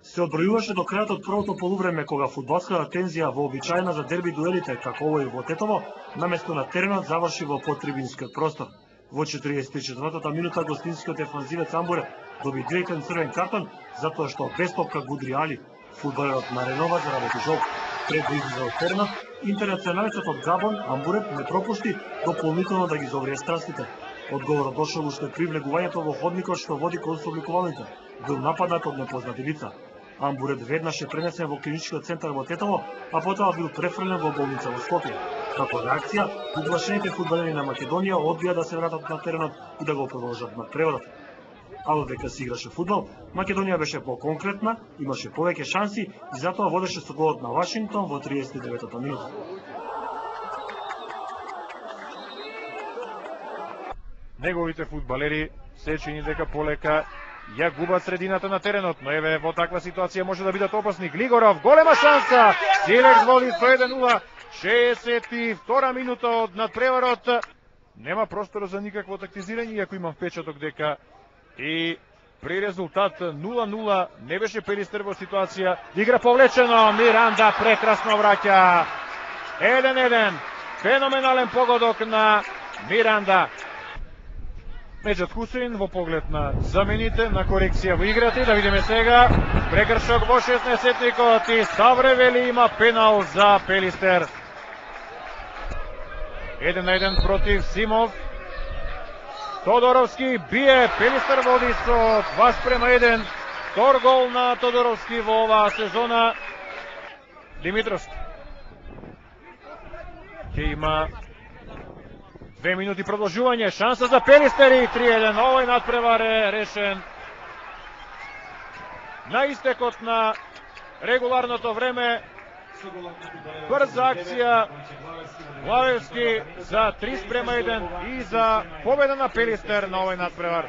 се одбројуваше до крајот од првото полувреме, кога фудбалската тензија вообичаена за дерби дуелите, како овој во Тетово, наместо на теренот заврши во подтрибинскиот простор. Во 44-та минута гостинскиот дефанзивец Амбурет доби директен црвен картон затоа што без топка гудри Али. Фудбалерот наренова заради жол. Пред да излезе од теренот, интернационалецот од Габон Амбурет не пропушти дополнително да ги зоврие страстите. Одговорот дошол уште при влегувањето во ходникот што води кон собликувањето. Бил нападнат од непознати лица. Амбурет веднаш е пренесен во клиничкиот центар во Тетово, а потоа бил префрлен во болница во Скопје. Како реакција, уплашените фудбалери на Македонија одбија да се вратат на теренот и да го продолжат надпреварот. А додека се играше фудбал, Македонија беше поконкретна, имаше повеќе шанси и затоа водеше со голот на Вашингтон во 39-та минута. Неговите фудбалери се чини дека полека ја губат средината на теренот, но еве во таква ситуација може да бидат опасни. Глигоров, голема шанса, Силекс води со 1-0, 62 минута од надпреварот. Нема простор за никакво тактизирање, иако имам впечаток дека и при резултат 0-0 не беше Пелистер во ситуација. Игра повлечено, Миранда прекрасно враќа. 1-1, феноменален погодок на Миранда. Меджат Хусейн во поглед на замените, на корекција во играта. И да видиме сега прекршок во 16-тникот и Ставревели има пенал за Пелистер. 1-1 против Симов. Тодоровски бие, Пелистер води со 2:1. Втор гол на Тодоровски во оваа сезона. Димитровски ќе има 2 минути продолжување, шанса за Пелистер и 3-1. Овој надпревар е решен на истекот на регуларното време. Брза акција Главевски за 3:1 и за победа на Пелистер на овој надпревар.